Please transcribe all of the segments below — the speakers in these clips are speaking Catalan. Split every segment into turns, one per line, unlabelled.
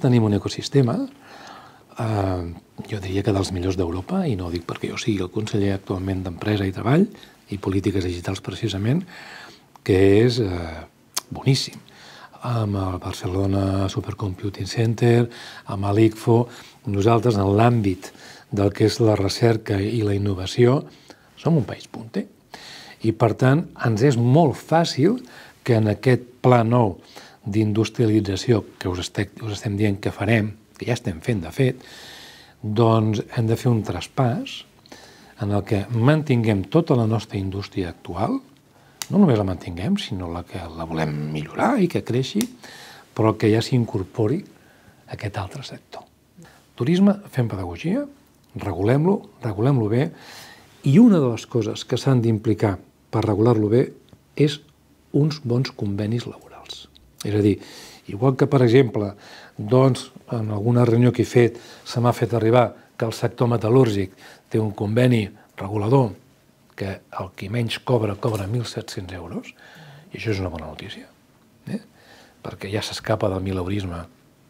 tenim un ecosistema, jo diria que dels millors d'Europa, i no ho dic perquè jo sigui el conseller actualment d'Empresa i Treball i Polítiques Digitals precisament, que és boníssim. Amb el Barcelona Supercomputing Center, amb l'ICFO, nosaltres en l'àmbit del que és la recerca i la innovació som un país punter. I per tant ens és molt fàcil que en aquest pla nou d'industrialització que us estem dient que farem, que ja estem fent de fet, doncs hem de fer un traspàs en el que mantinguem tota la nostra indústria actual, no només la mantinguem, sinó que la volem millorar i que creixi, però que ja s'incorpori aquest altre sector. Turisme, fem pedagogia, regulem-lo bé, i una de les coses que s'han d'implicar per regular-lo bé és uns bons convenis laborals. És a dir, igual que, per exemple, doncs, en alguna reunió que he fet se m'ha fet arribar que el sector metal·lúrgic té un conveni regulador que el qui menys cobra 1.700 euros, i això és una bona notícia, perquè ja s'escapa del mileurisme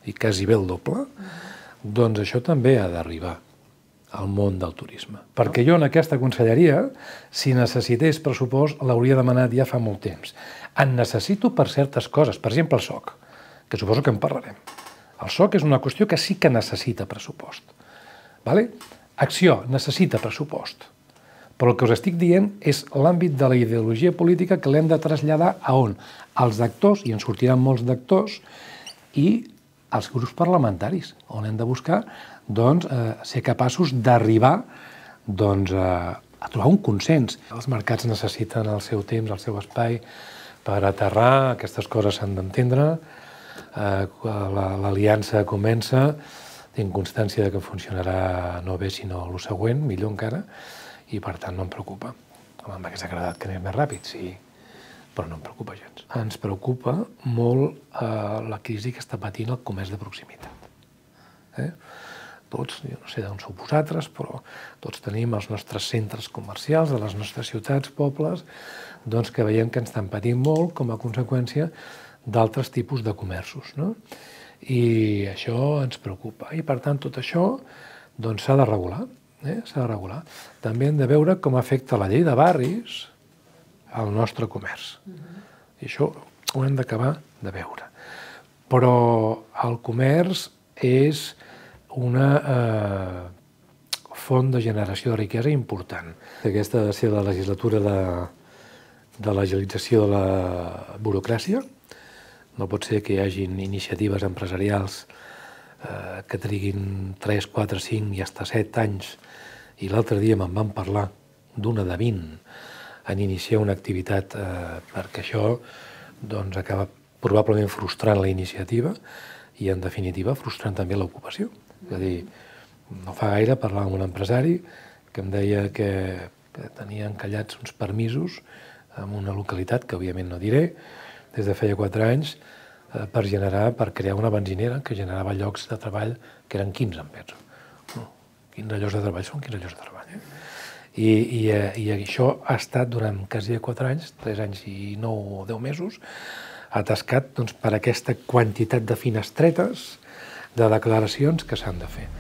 i quasi bé el doble, doncs això també ha d'arribar al món del turisme. Perquè jo en aquesta conselleria, si necessités pressupost, l'hauria demanat ja fa molt temps. En necessito per certes coses, per exemple el SOC, que suposo que en parlarem. El SOC és una qüestió que sí que necessita pressupost. Acció necessita pressupost. Però el que us estic dient és l'àmbit de la ideologia política que l'hem de traslladar a on? Als actors, i en sortiran molts d'actors, i als grups parlamentaris, on hem de buscar ser capaços d'arribar a trobar un consens. Els mercats necessiten el seu temps, el seu espai per aterrar, aquestes coses s'han d'entendre, l'aliança comença, tinc constància que funcionarà no bé sinó el següent, millor encara, i per tant no em preocupa. M'hauria agradat que anés més ràpid, sí, però no em preocupa gens. Ens preocupa molt la crisi que està patint el comerç de proximitat. Tots, jo no sé d'on sou vosaltres, però tots tenim els nostres centres comercials de les nostres ciutats, pobles, doncs que veiem que ens estan patint molt com a conseqüència d'altres tipus de comerços. I això ens preocupa. I per tant tot això s'ha de regular. S'ha de regular. També hem de veure com afecta la llei de barris al nostre comerç. I això ho hem d'acabar de veure. Però el comerç és una font de generació de riquesa important. Aquesta ha de ser la legislatura de l'agilització de la burocràcia. No pot ser que hi hagin iniciatives empresarials que triguin 3, 4, 5 i fins 7 anys, i l'altre dia me'n van parlar d'una de 20 en iniciar una activitat, perquè això acaba probablement frustrant la iniciativa i, en definitiva, frustrant també l'ocupació. És a dir, no fa gaire parlava amb un empresari que em deia que tenia encallats uns permisos en una localitat, que òbviament no diré, des de feia 4 anys, per crear una benzinera que generava llocs de treball que eren 15, em penso. 15 llocs de treball són 15 llocs de treball. I això ha estat durant quasi 4 anys, 3 anys i 9 o 10 mesos, atascat per aquesta quantitat de finestretes de declaracions que s'han de fer.